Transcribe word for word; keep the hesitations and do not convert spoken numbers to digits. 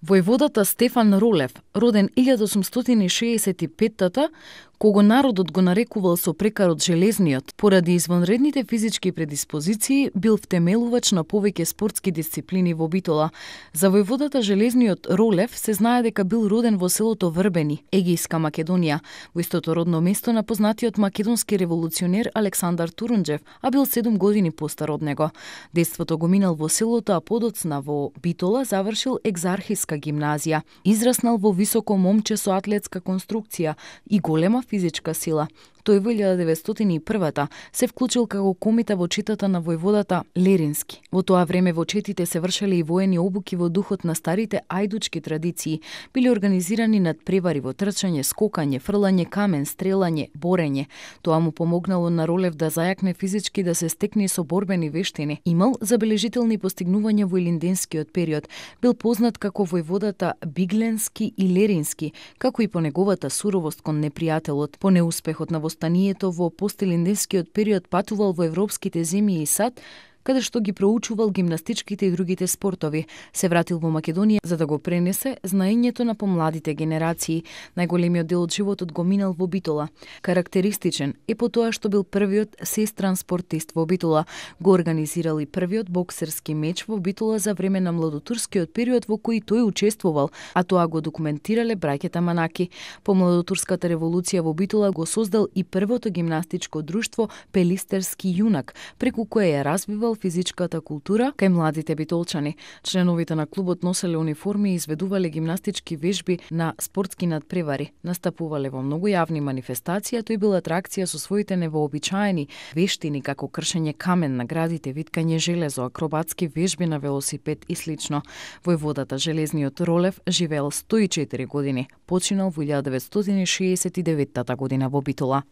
Војводата Стефан Ролев, роден илјада осумстотини и шеесет и петта, кого народот го нарекувал со прекарот железниот, поради извонредните физички предиспозиции, бил втемелувач на повеќе спортски дисциплини во Битола. За војводата железниот Ролев се знае дека бил роден во селото Врбени, Егејска Македонија, во истото родно место на познатиот македонски револуционер Александар Турунџев, а бил седум години постар од него. Детството го минал во селото, а подоцна во Битола завршил Екзархиска гимназија. Израснал во високо момче со атлетска конструкција и голема физичка сила. Тој во илјада деветстотини и прва се вклучил како комита во четата на војводата Лерински. Во тоа време во четите се вршеле и воени обуки во духот на старите ајдучки традиции. Били организирани надпревари во трчање, скокање, фрлање камен, стрелање, борење. Тоа му помогнало на Ролев да зајакне физички, да се стекне со борбени вештини. Имал забележителни постигнувања во илинденскиот период. Бил познат како војводата Бигленски и Лерински, како и по неговата суровост кон непријателот. По неуспехот на Станието во постилинденскиот период патувал во европските земји и САД, каде што ги проучувал гимнастичките и другите спортови. Се вратил во Македонија за да го пренесе знаењето на помладите генерации. Најголемиот дел од животот го минал во Битола. Карактеристичен е по тоа што бил првиот сестран спортист во Битола. Го организирал и првиот боксерски меч во Битола за време на младотурскиот период во кој тој учествувал, а тоа го документирале браќата Манаки. По младотурската револуција во Битола го создал и првото гимнастичко друштво Пелистерски јунак, преку кое ја развивал физичката култура кај младите битолчани. Членовите на клубот носеле униформи и изведувале гимнастички вежби на спортски надпревари. Настапувале во многу јавни манифестации, а тој бил атракција со своите невообичаени вештини како кршење камен на градите, виткање железо, акробатски вежби на велосипед и слично. Војводата железниот Ролев живеел сто и четири години. Починал во илјада деветстотини шеесет и деветта година во Битола.